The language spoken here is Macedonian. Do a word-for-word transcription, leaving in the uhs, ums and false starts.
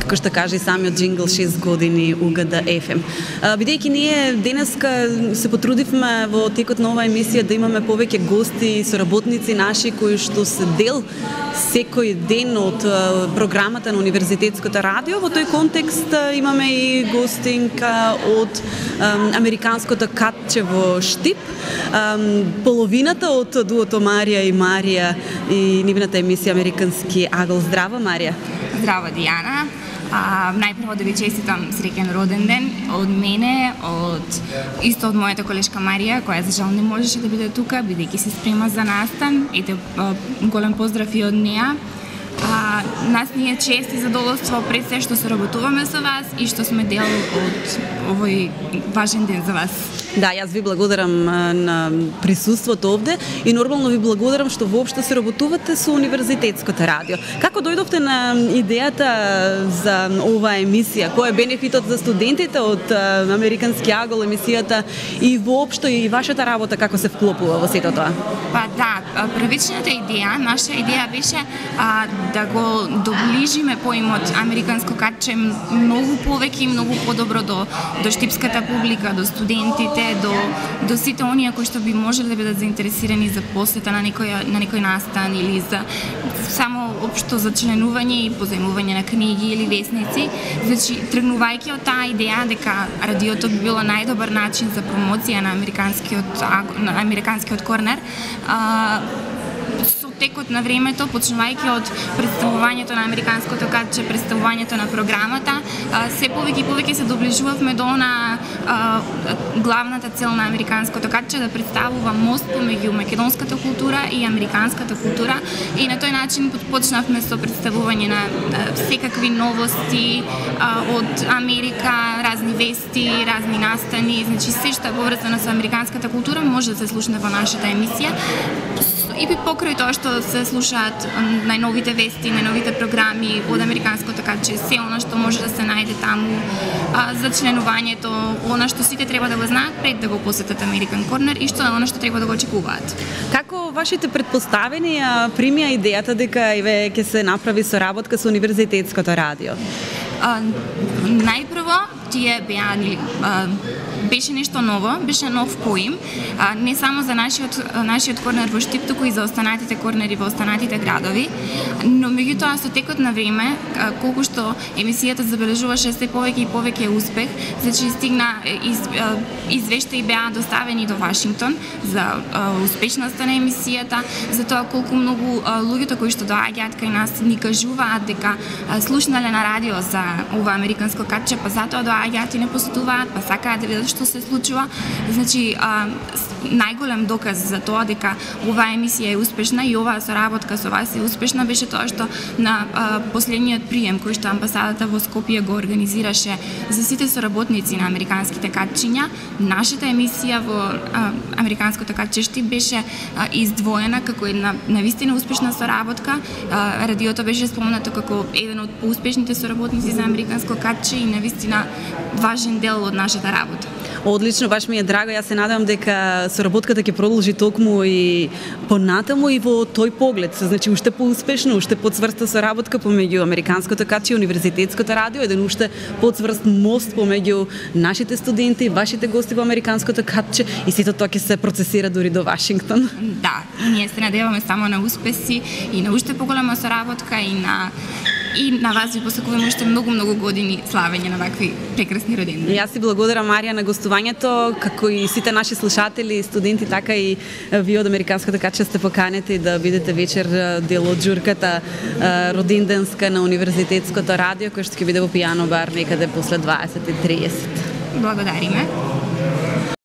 како што кажа и самиот джингл, шест години У Г Д Ф М. Бидејќи ние денеска се потрудивме во текот на оваа емисија да имаме повеќе гости и соработници наши кои што се дел секој ден од програмата на Универзитетското радио. Во тој контекст имаме и гостинка од Американското катче во Штип, половината од дуото Марија и Марија и нивната емисија Американски агол. Здраво, Марија. Здраво, Дијана. А, најпрво да ви честитам среќен роден ден од мене, од исто од мојата колешка Марија, која за жал не можеше да биде тука, бидејќи се спрема за настан. Ете, голем поздрав и од неа. А, нас ни е чест и задоволство пред се што соработуваме со вас и што сме дел од овој важен ден за вас. Да, јас ви благодарам на присуството овде и нормално ви благодарам што воопшто се работувате со Универзитетското радио. Како дојдовте на идејата за оваа емисија? Кој е бенефитот за студентите од Американски агол емисијата и воопшто и вашата работа како се вклопува во сето тоа? Па да, првичната идеја, наша идеја беше а, да го доближиме поимот Американско катче многу повеќе и многу подобро до, до штипската публика, до студентите, до, до сите оние кои што би можеле да бидат заинтересирани за посета на некој, на некој настан или за само општо за членување и позајмување на книги или весници. Значи, тргнувајќи од таа идеја дека радиото би било најдобар начин за промоција на Американскиот, на Американскиот корнер, а, со текот на времето, почнувајќи од представувањето на Американското катче, представувањето на програмата, се повеќе и повеќе се доближувавме до на а, главната цел на Американското катче, да представува мост помеѓу македонската култура и американската култура, и на тој начин почнавме со представување на а, секакви новости а, од Америка, разни вести, разни настани, значи се што е поврзано со американската култура може да се слушне во нашата емисија. И покрај тоа што се слушаат најновите вести, најновите програми од Американското катче, се она што може да се најде таму а, за членувањето, она што сите треба да го знаат пред да го посетат Американ Корнер и што е она што треба да го очекуваат. Како вашите предпоставени примија идејата дека еве ќе се направи соработка со Универзитетското радио? А, најпрво тие беа беше нешто ново, беше нов поим, а, не само за нашиот нашиот корнер во Штип, туку и за останатите корнери во останатите градови, но меѓутоа со текот на време, колку што емисијата забележуваше се повеќе и повеќе успех, значи стигна из, извештаи беа доставени до Вашингтон за а, успешноста на емисијата, за тоа колку многу а, луѓето кои што доаѓаат кај нас ни кажуваат дека а, слушнале на радио за ова Американско катче, па затоа доаѓаат и не посетуваат, па сакаат да видат што се случува. Значи, а, најголем доказ за тоа дека оваа емисија е успешна и оваа соработка со вас е успешна беше тоа што на а, последниот прием кој што амбасадата во Скопје го организираше за сите соработници на американските катчиња, нашата емисија во а, Американското катче Штип беше а, издвоена како една навистина успешна соработка. А, радиото беше спомнато како еден од поуспешните соработници за Американско катче и навистина важен дел од нашата работа. Одлично, баш ми е драго. Јас се надевам дека соработката ќе продолжи токму и понатаму и во тој поглед. Значи, уште поуспешно, уште подцврста соработка помеѓу Американското катче и Универзитетското радио, еден уште подцврст мост помеѓу нашите студенти, вашите гости во Американското катче и сето тоа ќе се процесира дури до Вашингтон. Да, и ние се надеваме само на успеси и на уште поголема соработка и на и на вас ви посакуваме уште многу-многу години славење на вакви прекрасни родендани. Јас си благодарам, Марија, на гостувањето, како и сите наши слушатели, студенти, така и вие од Американското катче сте поканети да бидете вечер дел од журката роденденска на Универзитетското радио, кој што ќе биде во Пијано бар некаде после дваесет и тридесет. Благодариме.